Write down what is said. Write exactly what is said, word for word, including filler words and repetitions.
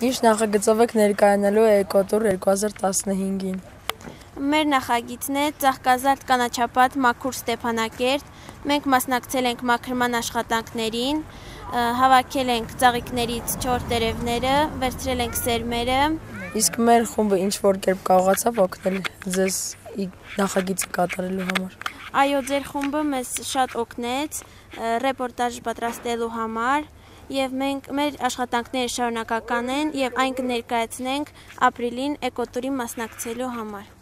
Ինչ նախագծով եք ներկայանալու Էկոտուր երկու հազար տասնհինգին։ Մեր նախագիծն է Ծաղկազարդ կանաչապատ Մաքուր Ստեփանակերտ։ Մենք մասնակցել ենք մաքրման աշխատանքներին, հավաքել ենք ծաղիկներից չոր տերևները, վերցրել ենք սերմերը։ Իսկ մեր խումբը ինչ որ կերպ կարողացավ օգնել ձեզ նախագիծը կատարելու համար։ Այո, ձեր խումբը մեզ շատ օգնեց ռեպորտաժ պատրաստելու համար, եւ մենք մեր աշխատանքները շարունակական են եւ այն կներկայացնենք ապրիլին Էկոտուրին մասնակցելու համար։